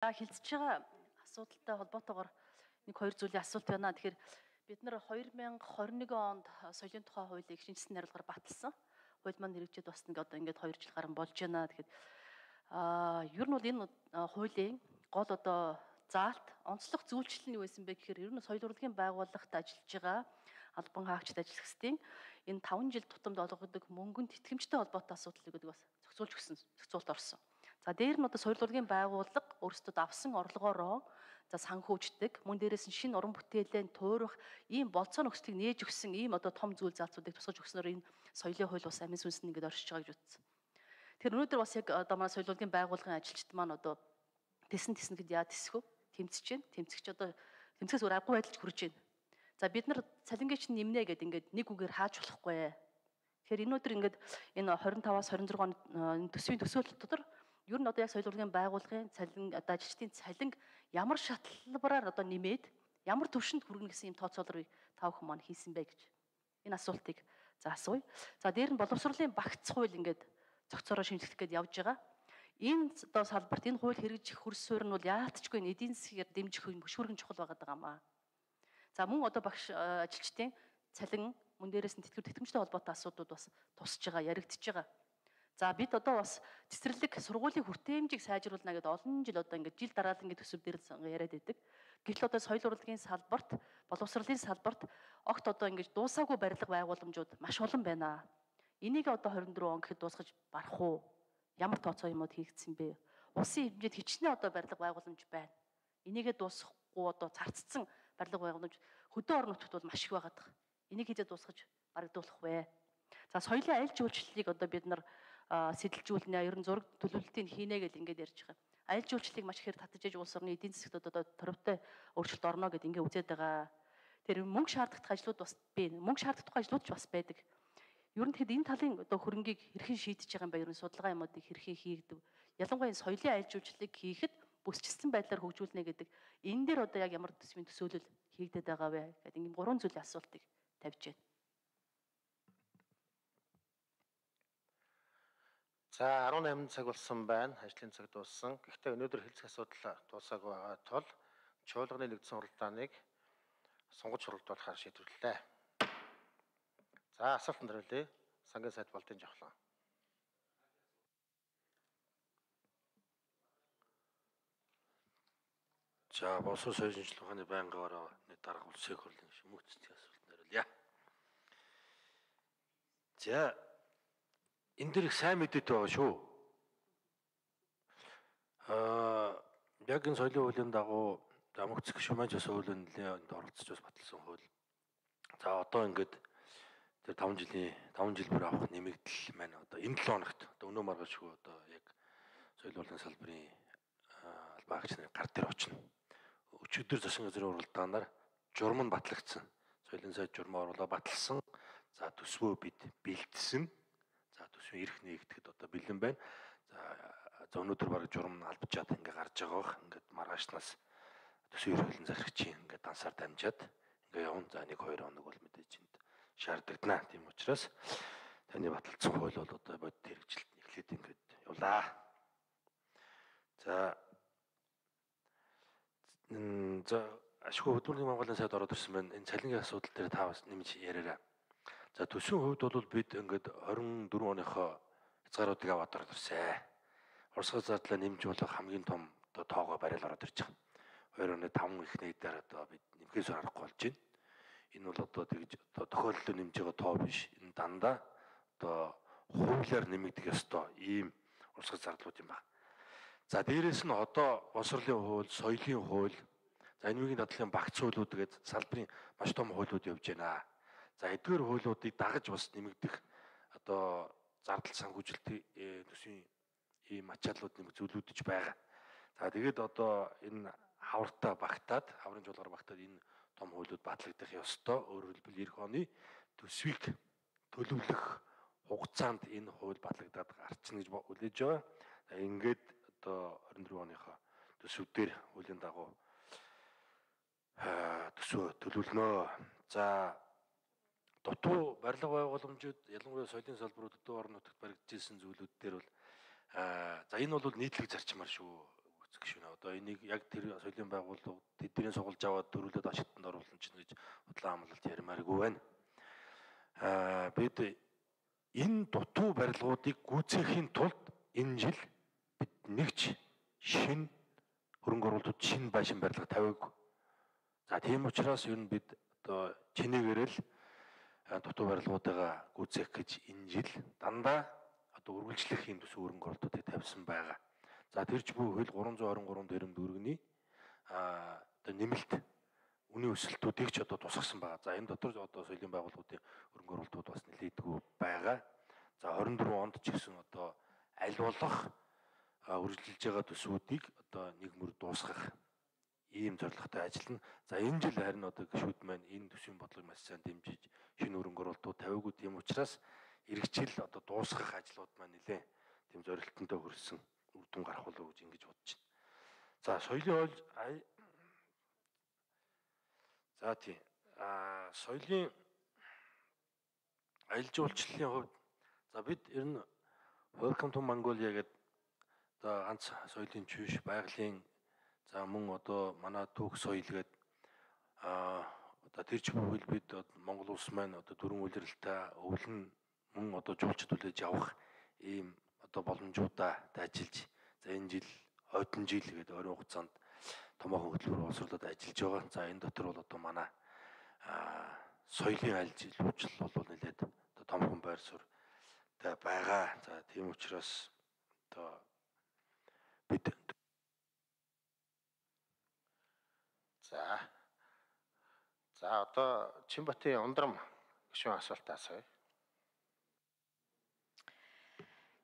Хилцэж байгаа асуудалтай холбоотойгоор нэг хоёр зүйлийн асуулт байна. Тэгэхээр бид нар 2021 онд соёлын тухай хуулийг шинжилсэн хариулгаар баталсан. Хууль маань хэрэгжээд бас ингээд 2 жил гарсан болж байна. Тэгэхээр ер нь бол энэ хуулийн гол заалт онцлог зүйлчлэл нь юу байсан бэ гэхээр ер нь соёл урлагийн байгууллагт ажиллаж байгаа албан хаагчид ажиллагчдын энэ 5 жил тутамд олгодог мөнгөнд итгэмжтэй холбоотой асуудлыг бас зохицуулж өгсөн, зохицуулт орсон. За дээр нь соёл урлагийн байгууллага өөрсдөө авсан орлогоороо санхүүждэг, мөн дээрээс нь шинэ уран бүтээлээ туурах ийм болцоо нөхцөлийг нээж өгсөн ийм том зүйл заалтуудыг тусгаж өгснөөр энэ соёлын хууль бас амин сүнс нь ингээд оршиж байгаа гэж үзсэн. Тэгэхээр өнөөдөр бас яг манай соёл урлагийн байгууллагын ажилчид маань тэсэн гэд яа тэсэх вэ? Тэмцэж байна. Тэмцэгч тэмцээс өөр аргагүй байдалд хүрэж байна. За бид нар цалингийн чинь нэмнэ гэдэг ингээд нэг үгээр хааж болохгүй. Тэгэхээр өнөөдөр ингээд энэ 25-аас 26 оны төсвийн төсөөлөл дотор ер нь яг соёл урлагийн байгууллагын цалин ажилчдын цалин ямар шатлбараар нэмээд ямар төвшөнд хүргэнэ гэсэн юм тооцоолрыг та бүхэн маань хийсэн бэ гэж энэ асуултыг асууя. За дээр нь боловсролын багц хууль ингээд зохицороо шинжлэх гээд явж байгаа. Энэ салбарт энэ хууль хэрэгжих хөрс суурь нь бол яалтчгүй эдийн засгаар дэмжих хөшүүргэн чухал байгаа даа. За мөн багш ажилчдын цалин мөн дээрээс нь тэтгэмжтэй холбоотой асуудлууд бас тусж байгаа, яригдчихэж байгаа. За бид бас цэцэрлэг сургуулийн хүртээмжийг сайжруулна гэдэг олон жил ингээд жил дараалан төсөв дээр яриад байдаг. Гэвч соёл урлагийн салбарт, боловсролын салбарт огт ингээд дуусаагүй барилга байгууламжууд маш олон байна. Энийг 24 он гэхэд дуусгаж барах уу? Ямар тооцоо юмуд хийгдсэн бэ? Улсын хэмжээнд хичнээн барилга байгууламж байна. Энийгээ дуусгахгүй царцсан барилга байгууламж хөдөө орон нутгад бол маш их байгаад байгаа. Энийг хийжээ дуусгаж барагдуулах вэ? За соёлын аялал жуулчлалыг бид нар сэтэлжүүлнэ, ер нь зураг төлөвлөлтийг хийнэ гэж ингээд ярьж байгаа. Аялал жуулчлалыг маш ихээр татжиж улс орны эдийн засгт торивтой өөрчлөлт орно гэдээ ингээд үзээд байгаа. Тэр мөнгө шаарддаг ажлууд бас бий. Мөнгө шаарддаг ажлууд ч бас байдаг. Ер нь тэгэхэд энэ талын хөрөнгийг хэрхэн шийдэж байгаа юм бэ? Ер нь судалгаа юмуудыг хэрхэн хийгдэв? Ялангуяа соёлын аялал жуулчлалыг хийхэд бүсчилсэн байдлаар хөгжүүлнэ гэдэг энэ дээр яг ямар төсвийн төсөөлөл хийгдэт байгаа вэ гэдэг ийм 3 зүйлийн асуултыг тавьж байна. За 18 цаг болсон байна. Ажлын цаг дууссан. Гэхдээ өнөөдөр хэлцэх асуудал дуусаагүй байгаа тул чуулганы нэгдсэн хуралдааныг сонгож хуралдуулахаар шийдвэрлэлээ. За асуултанд хариулъя. Сангийн сайд Болдын Жавхлан. За боловсрол соёлын шинжилгээ ухааны байнгын дарга улсын хурлын шимэгцлийн асуултанд хариулъя. За энэ дэр их сайн мэдээтэй байгаа шүү. Яг энэ соёлын хуулийн дагуу мөнх гишүүнч бас хуулийн нэлээд оролцож бас баталсан хууль. За ингээд тэр 5 жил бүр авах нэмэгдэл маань энэ 7 хоногт өнөө маргаашгүй яг соёл урлагийн салбарын албан хаагч нарын гар дээр очино. Өчигдөр засгийн газрын уралдаанаар журам нь батлагдсан. Соёлын сайд журмаа оруулаад баталсан. За төсвөө бид бэлдсэн. За төсвийн эрх нээгдэхэд бэлэн байна. За өнөөдөр бараг журам нь албачаад ингээд гарч байгаа бох. Ингээд маргаашнаас төсвийн эрхлэн захирагчийн ингээд дансаар дамжаад ингээд явна. За 1-2 хоног бол мэдээж энд шаардлагадана. Тийм учраас таны баталсан хууль бол бодит хэрэгжилт эхлээд ингээд явлаа. За ашгүй хөдөлмөрийн Монголын сайд ороод ирсэн байна. Энэ цалингийн асуудал дээр та бас нэмж яриараа. За төсвийн хувьд бол бид ингээд 24 оныхоо хязгааруудыг аваад ороод ирсэн. Урсгал зардлаа нэмж болох хамгийн том тоогоо барайл ороод ирж байгаа. 2 оны 5 их нэгдээр бид нэмхээс аргагүй болж байна. Энэ бол тэгж тохиолдлоо нэмж байгаа тоо биш. Энэ дандаа хуулиар нэмэгдэх ёстой ийм урсгал зардлууд юм байна. За дээрэс нь боловсролын хууль, соёлын хууль, за энэгийн дадлын багц хуулиуд гээд салбарын маш том хуулиуд явж байна. За эдгээр хуулиудыг дагаж бас нэмэгдэх зардал санхүүжилтийн төсвийн ийм ачааллууд нэмэх зүйлүүд ч байгаа. За тэгээд энэ хаврын жуулгаар багтаад энэ том хуулиуд батлагдах ёстой. Өөрөөр хэлбэл эх оны төсвийг төлөвлөх хугацаанд энэ хууль батлагдаад гарчна гэж хүлээж байгаа. Ингээд 24 оныхоо төсвүүдээр хуулийн дагуу төсвөө төлөвлөнө. За дутуу барилга байгууламжууд ялангуяа соёлын салбарууд дутуу орон нутагт баригдажсэн зүйлүүд дээр бол за энэ бол нийтлэг зарчмаар шүү. үзэх гişүнэ. Одоо энийг яг тэр соёлын байгууллага тэдний сугалж аваад дөрвөлөд ашигтанд оруулна ч гэж худлаа амлалт ярмааргүй байна. Бид энэ дутуу барилгуудыг гүйцэхийн тулд энэ жил бид нэгч шинэ хөрөнгө оруулалтууд шинэ байшин барилга тавиагүй. За тийм учраас ер нь бид одоо чинээгээр л дутуу барилгуудаа гүйцээх гэж энэ жил дандаа одоо үргэлжлэх юм төсөв хөрөнгө оруулалтуудыг тавьсан байгаа. За тэрч буй хөл 323 дээрм дүүргэний одоо нэмэлт үнийн өсөлтүүдийг ч одоо тусгасан байгаа. За энэ дотор одоо соёлын байгууллагуудын хөрөнгө оруулалтууд бас нэлээдгүй байгаа. За 24 онд ч гэсэн одоо аль болох үргэлжилж байгаа төсвүүдийг одоо нэг мөр дуусгах ийм зорилготой ажиллана. За энэ жил харин одоо гишүүд маань энэ төсвийн бодлогыг маш сайн дэмжиж шинэ хөрөнгө оруулалтууд тавиагүй, тийм учраас эргэжил одоо дуусгах ажлууд маань нэлээ тийм зорилттой хүрсэн үр дүн гарах болов уу гэж ингэж бодож байна. За соёлын за тийм соёлын аялал жуулчлалын хувьд за бид ер нь Welcome to Mongolia гэдэг одоо ганц соёлын чүйш байгалийн за мөн одоо манай түүх соёл гэдэг одоо тэрч бүхэл бид Монгол улс маань одоо дөрвөн улиралтай өвлөн мөн одоо жуулчд хүлээж авах ийм одоо боломжуудаа ажиллаж за энэ жил ойдон жил гэдэг ойрын хугацаанд томоохон хөтөлбөр боловсруулаад ажиллаж байгаа. За энэ дотор бол одоо манай соёлын аялал жуулчлал бол нэлээд одоо томхон байр суурьтай байгаа. За тийм учраас одоо бид За одоо Чинбатын ундрам гишүүн асуулт асууя.